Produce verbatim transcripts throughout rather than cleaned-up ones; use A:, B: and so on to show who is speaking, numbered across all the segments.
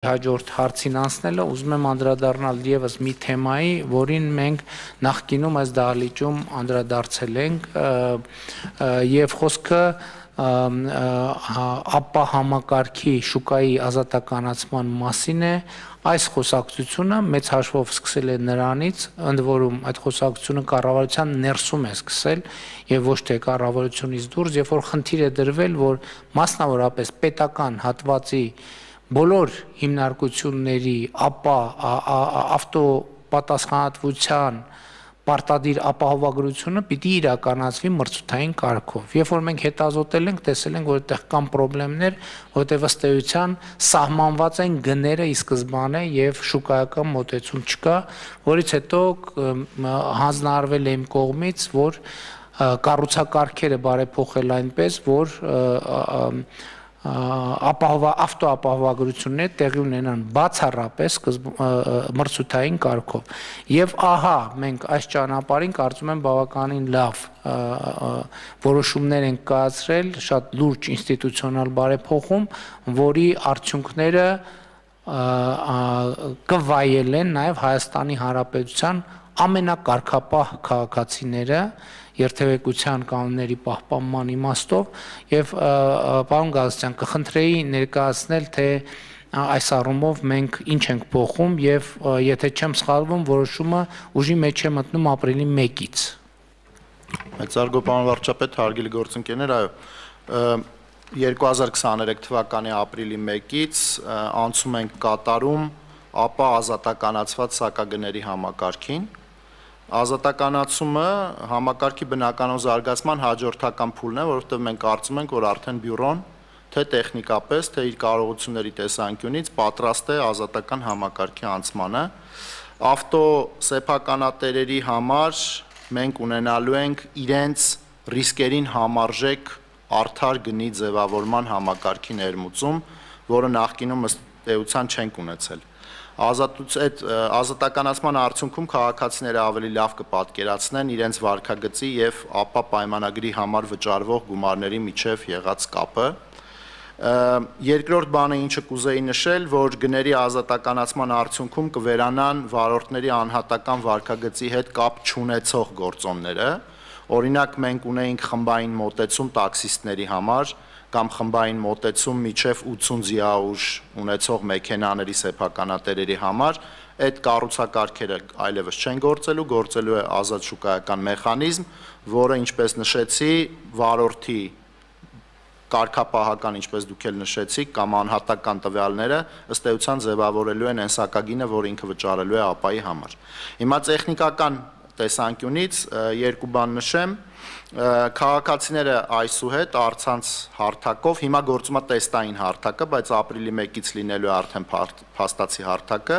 A: Հաջորդ հարցին անցնելը ուզում եմ անդրադառնալ ևս մի թեմայի, որին մենք նախկինում այս դահլիճում անդրադարձել ենք եւ խոսքը ապա համակարգի շուկայի ազատականացման մասին է, այս խոսակցությունը մեծ հաշվով սկսել է նրանից, ընդ որում այդ խոսակցությունը կառավարության ներսում է սկսել եւ ոչ թե կառավարությունից դուրս, երբ որ խնդիր է դրվել, որ մասնավորապես պետական հատվածի բոլոր հիմնարկությունների ապա ավտոպատասխանատվության պարտադիր ապահովագրությունը պիտի իրականացվի մրցութային կարգով։ Երբ որ մենք հետազոտել ենք, տեսել ենք, որ այդտեղ կան խնդիրներ, որտեղ ըստ էության սահմանված են գները ի սկզբանե եւ շուկայական մոտեցում չկա, որից հետո հանձնարարվել է իմ կողմից, որ կառուցակարգերը բարեփոխել այնպես, որ ավտոապահովագրությունները տեղի ունենան բացառապես մրցութային կարգով։ Եվ ահա մենք այս ճանապարհին կարծում եմ բավականին լավ որոշումներ են կայացրել, շատ լուրջ ինստիտուցիոնալ բարեփոխում, որի արդյունքները կվայելեն նաև Հայաստանի Հանրապետության ամենակարգապահ քաղաքացիները երթևեկության կանոնների պահպանման իմաստով եւ պարոն Գալստյան կխնդրեի ներկայացնել թե այս առումով մենք ինչ ենք փոխում եւ եթե չեմ սխալվում որոշումը ուժի մեջ է մտնում ապրիլի մեկից։
B: Մեծարգո պարոն վարչապետ, հարգելի գործընկերներ, այո, երկու հազար քսաներեք թվականի ապրիլի մեկից անցում ենք կատարում ապա ազատականացված սակագների համակարգին։ Ազատականացումը համակարգի բնականոն զարգացման հաջորդական փուլն է, որովհետև մենք կարծում ենք, որ արդեն բյուրոն թե տեխնիկապես, թե իր կարողությունների տեսանկյունից պատրաստ է ազատական համակարգի անցմանը։ Ավտոսեփականատերերի համար մենք ունենալու ենք իրենց ռիսկերին համարժեք արդար գնի ձևավորման համակարգի ներմուծում, որը նախկինում ըստ էության չենք ունեցել։ Այդ ազատականացման արդյունքում քաղաքացիները ավելի լավ կպատկերացնեն իրենց վարքագծի եւ ապա պայմանագրի համար վճարվող գումարների միջև եղած կապը։ Երկրորդ բանը, ինչը կուզեի նշել, որ գների ազատականացման արդյունքում կվերանան վարորդների անհատական վարքագծի հետ կապ չունեցող գործոնները։ Օրինակ մենք ունեինք խմբային մոտեցում տաքսիստների համար կամ խմբային մոտեցում միջև ութսուն ձիաուժ ունեցող մեքենաների սեփականատերերի համար, այդ կառուցակարգերը այլևս չեն գործելու, գործելու է ազատ շուկայական մեխանիզմ, որը ինչպես նշեցի, վարորդի կարգապահական, ինչպես դուք էլ նշեցիք, կամ անհատական տվյալները ըստ էության ձևավորելու են այն սակագինը, որը ինքը վճարելու է ապայի համար։ Հիմա տեխնիկական տեսանկյունից երկու բան նշեմ, քաղաքացիները այսուհետ առցանց հարթակով, հիմա գործում է տեստային հարթակը, բայց ապրիլի մեկից լինելու է արդեն փաստացի հարթակը,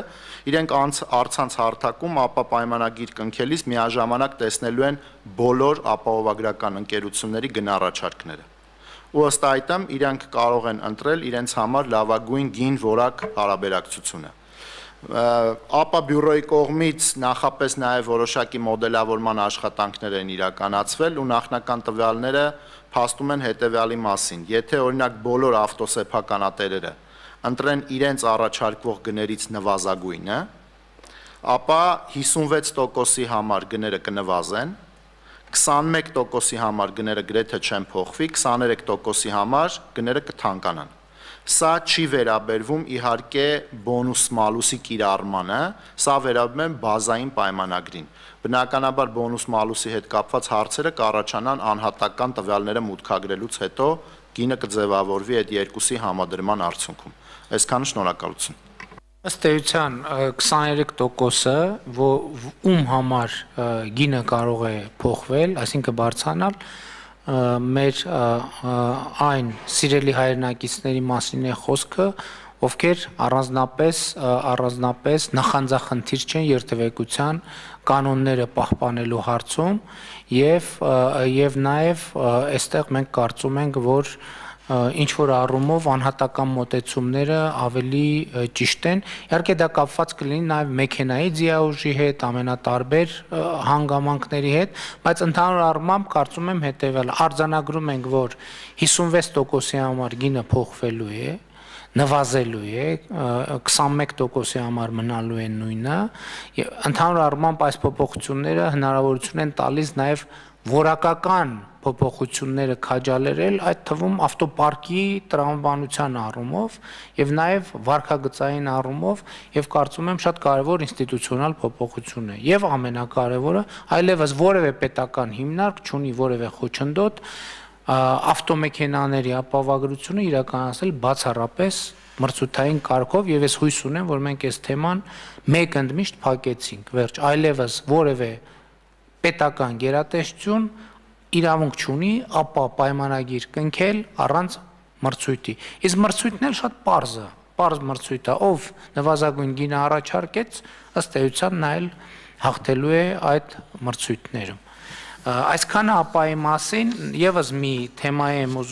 B: իրենք առցանց հարթակում ապա պայմանագիր կնքելիս միաժամանակ տեսնելու են բոլոր ապահովագրական ընկերությունների գնառաջարկները։ Ու ըստ այդմ իրենք կարող են ընտրել իրենց համար լավագույն գին որակ հարաբերակցությունը։ Ապա բյուրոյի կողմից նախապես նաև որոշակի մոդելավորման աշխատանքներ են իրականացվել ու նախնական տվյալները փաստում են հետևյալի մասին։ Եթե օրինակ բոլոր ավտոսեփականատերերը ընտրեն իրենց առաջարկվող գներից նվազագույնը, ապա հիսունվեց տոկոսի համար գները կնվազեն, քսանմեկ տոկոսի համար գները գրեթե չեն փոխվի, քսաներեք տոկոսի համար գները կթանկանան։ Սա չի վերաբերվում իհարկե բոնուս մալուսի կիրառմանը, սա վերաբերում է բազային պայմանագրին։ Բնականաբար բոնուս մալուսի հետ կապված հարցերը կառաջանան անհատական տվյալները մուտքագրելուց հետո գինը կձևավորվի այդ երկուսի համադրման արդյունքում։ Այսքանը շնորհակալություն։
A: Ըստ էության քսաներեք տոկոսը, ում համար գինը կարող է փոխվել, այսինքն բարձրանալ, մեր այն սիրելի հայրենակիցների մասին է խոսքը, ովքեր առանձնապես առանձնապես նախանձախնդիր չեն երթևեկության կանոնները պահպանելու հարցում եւ եւ նաեւ այստեղ մենք կարծում ենք, որ ինչ որ առումով անհատական մոտեցումները ավելի ճիշտ են։ Իհարկե դա կապված կլինի նաև մեքենայի ձիաուժի հետ, ամենատարբեր հանգամանքների հետ, բայց ընդհանուր առմամբ կարծում եմ հետևյալը, արձանագրում ենք, որ հիսունվեց տոկոսի համար գինը փոխվելու է, նվազելու է, քսանմեկ տոկոսի համար մնալու է նույնը, եւ ընդհանուր առմամբ այս փոփոխությունները հնարավորություն են տալիս նաեւ որակական փոփոխությունները քաջալերել, այդ թվում ավտոպարկի տրամաբանության առումով եւ նաեւ վարկագծային առումով եւ կարծում եմ շատ կարեւոր ինստիտուցիոնալ փոփոխություն է եւ ամենակարևորը այլևս որևէ պետական հիմնարկ չունի որևէ խոչընդոտ ավտոմեքենաների ապահովագրությունը իրականացնել բացառապես մրցութային կարգով եւ ես հույս ունեմ որ մենք այս թեման մեկ ընդմիշտ փակեցինք վերջ այլևս որևէ պետական գերատեսչություն իրավունք չունի ապա պայմանագիր կնքել առանց մրցույթի իսկ մրցույթն էլ շատ պարզ է պարզ մրցույթ է ով նվազագույն գինը առաջարկեց ըստ էության նա էլ հաղթելու է այդ մրցույթներում այսքանը ապայի մասին եւս մի թեմայի եմ ուզում